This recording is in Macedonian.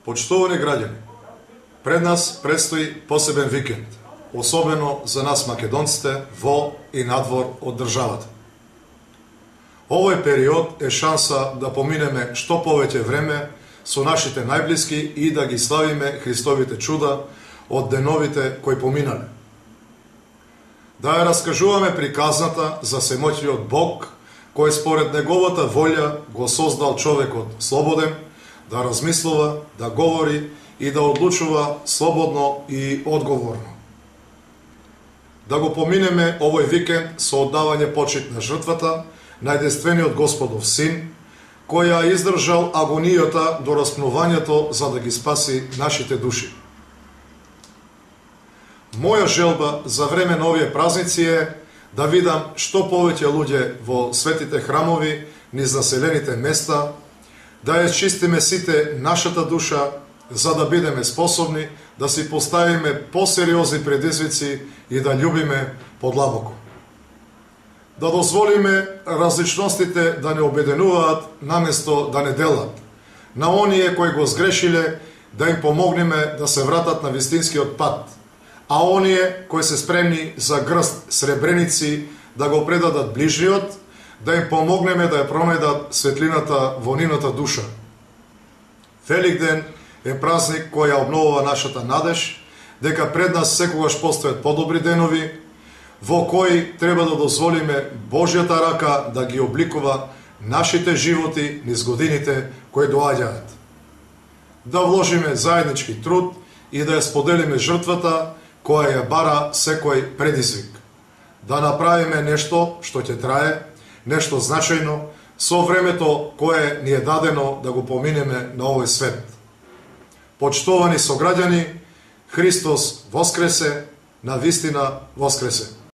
Почитувани граѓани, пред нас предстои посебен викенд, особено за нас македонците во и надвор од државата. Овој период е шанса да поминеме што повеќе време со нашите најблиски и да ги славиме Христовите чуда од деновите кои поминале. Да ја раскажуваме приказната за всемоќниот Бог, кој според неговата волја го создал човекот слободен, да размислува, да говори и да одлучува слободно и одговорно. Да го поминеме овој викенд со оддавање почит на жртвата, најденствениот Господов Син, кој ја издржал агонијата до распнувањето за да ги спаси нашите души. Моја желба за време на овие празници е да видам што повеќе луѓе во светите храмови низ населените места, да ја чистиме сите нашата душа, за да бидеме способни да си поставиме посериозни предизвици и да љубиме подлабоко. Да дозволиме различностите да не обединуваат наместо да не делат. На оние кои го сгрешиле да им помогнеме да се вратат на вистинскиот пат, а оние кои се спремни за грст сребреници да го предадат ближниот, да им помогнеме да ја пронајдат светлината во нивната душа. Великден е празник кој ја обновува нашата надеж, дека пред нас секогаш постојат подобри денови, во кои треба да дозволиме Божјата рака да ги обликува нашите животи низ годините кои доаѓаат. Да вложиме заеднички труд и да ја споделиме жртвата која ја бара секој предизвик. Да направиме нешто што ќе трае, нешто значајно, со времето кое ни е дадено да го поминеме на овој свет. Почитувани сограѓани, Христос воскресе, на вистина воскресе.